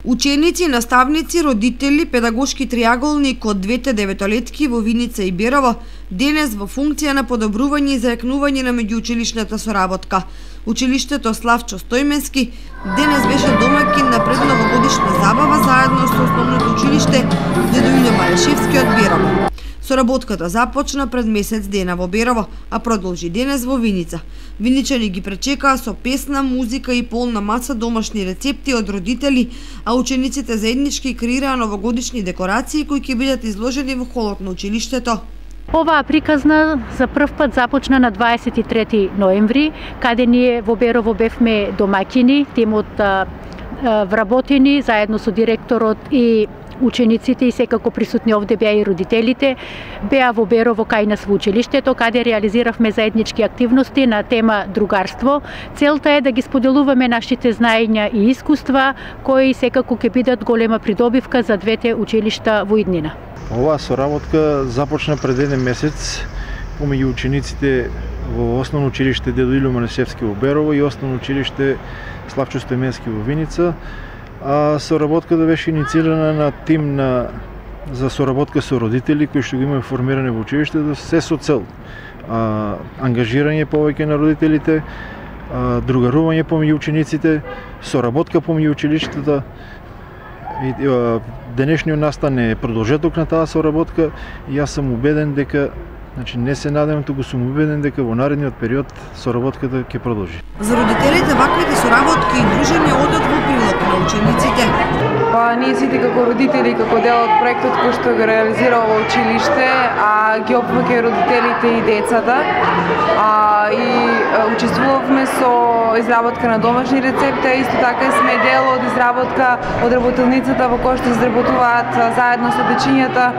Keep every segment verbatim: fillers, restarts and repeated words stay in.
Ученици, наставници, родители, педагошки триаголник од двете деветолетки во Виница и Берово денес во функција на подобрување и зајакнување на меѓуучилишната соработка. Училиштето Славчо Стојменски денес беше домаќин на предновогодишна забава заедно со основното училиште Дедо Илјо Марешевски од Берово. Соработката започна пред месец дена во Берово, а продолжи денес во Виница. Виничани ги пречекаа со песна, музика и полна маса домашни рецепти од родители, а учениците заеднички креираа новогодишни декорации кои ќе бидат изложени во холот на училиштето. Оваа приказна за прв пат започна на дваесет и трети ноември, каде ние во Берово бевме домаќини, тимот вработени заедно со директорот и учениците и секако присутни овде беа и родителите, беа во Берово кај нас во училиштето, каде реализиравме заеднички активности на тема другарство. Целта е да ги споделуваме нашите знаења и искуства, кои секако ќе бидат голема придобивка за двете училишта во иднина. Оваа соработка започна пред еден месец помеѓу учениците во Основно училиште Дедо Илјо Марешевски во Берово и Основно училиште Славчо Стојменски во Виница. А соработката беше инициирана на тим на за соработка со родители кои што го имаме формиране во училиштето, се со цел а, ангажирање повеќе на родителите, а, другарување помеѓу учениците, соработка помеѓу училиштата. И, а, денешниот настан е продолжеток на таа соработка и јас сум убеден дека, значи не се надевам, туку сум убеден дека во наредниот период соработката ќе продолжи. За родителите ваквите соработки и дружење одат во прилог на учениците. Па ние сите како родители, како дел од проектот кој што го реализира ова училиште, а ги опфаќа и родителите и децата. А, и а, учествувавме со изработка на домашни рецепти, исто така сме дел од изработка од работилницата во која што изработуваат заедно со дечињата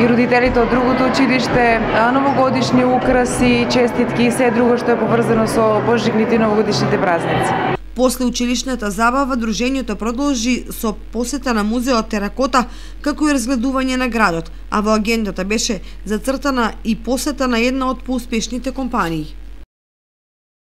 и родителите од другото училиште новогодишни украси, честитки и се друго што е поврзано со пожигните и новогодишните празници. После училишната забава, дружењето продолжи со посета на музеот Теракота, како и разгледување на градот, а во агендата беше зацртана и посета на една од поуспешните компании.